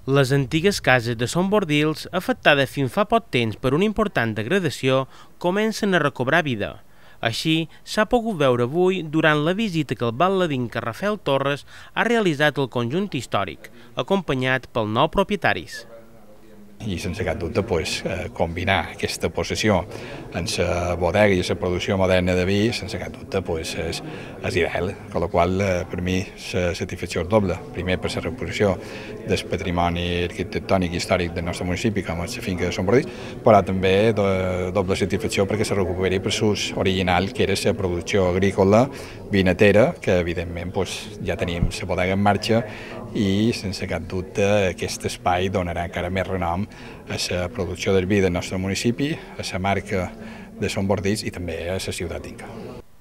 Les antigues cases de Son Bordils, afectades fins fa poc temps per una important degradació, comencen a recobrar vida. Així, s'ha pogut veure avui durant la visita que el balladinca Rafael Torres ha realitzat al conjunt històric, acompanyat pels nou propietaris. I sense cap dubte combinar aquesta possessió amb la bodega i la producció moderna de vi, sense cap dubte és ideal, amb la qual per mi la satisfacció és doble. Primer per la recuperació del patrimoni arquitectònic i històric del nostre municipi, com és la finca de Son Bordils, però també doble satisfacció perquè se recuperi per l'ús original, que era la producció agrícola vinatera, que evidentment ja tenim la bodega en marxa i sense cap dubte aquest espai donarà encara més renom a la producció del vi del nostre municipi, a la marca de Son Bordils i també a la ciutat d'Inca.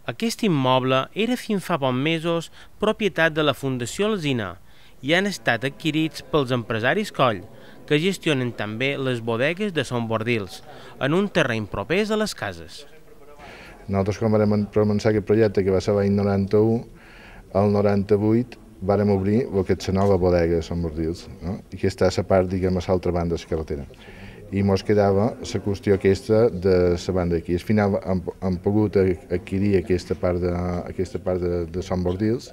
Aquest immoble era fins fa pocs mesos propietat de la Fundació Alsina i han estat adquirits pels empresaris Coll, que gestionen també les bodegues de Son Bordils, en un terreny propers a les cases. Nosaltres, quan vam començar aquest projecte, que va ser l'any 91, el 98 vàrem obrir el que és la nova bodega de Son Bordils, no? I que està a la part, diguem, a l'altra banda de la carretera. I ens quedava la qüestió aquesta de la banda d'aquí. Al final hem pogut adquirir aquesta part de Son Bordils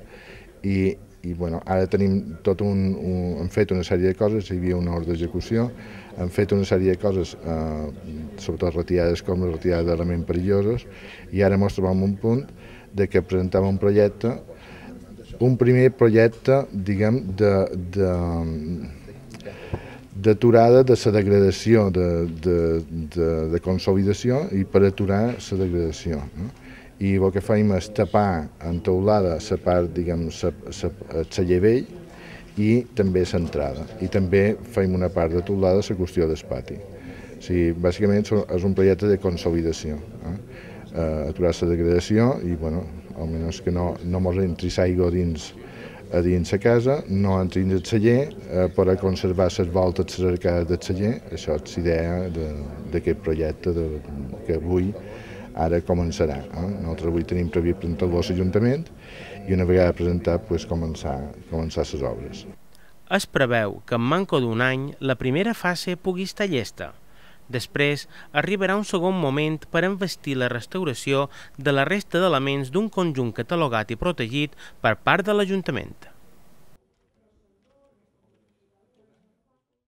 i bueno, ara tenim hem fet una sèrie de coses, hi havia una ordre d'execució, hem fet una sèrie de coses, sobretot retirades com retirades d'elements perillosos, i ara ens trobem en un punt de que presentàvem un projecte, un primer projecte, diguem, d'aturada de la degradació, de consolidació i per aturar la degradació. I el que fem és tapar en teulada la part, diguem, el celler vell i també l'entrada. I també fem una part de teulada a la qüestió del pati. O sigui, bàsicament és un projecte de consolidació. Aturar la degradació i, bueno, almenys que no ens entri l'aigua a dins la casa, no entri dins el celler, per a conservar les voltes de les arcades del celler. Això és l'idea d'aquest projecte que avui ara començarà. Nosaltres avui tenim previst presentar-lo a l'Ajuntament i una vegada presentat començar les obres. Es preveu que en manco d'un any la primera fase pugui estar llesta. Després arribarà un segon moment per investir la restauració de la resta d'elements d'un conjunt catalogat i protegit per part de l'Ajuntament.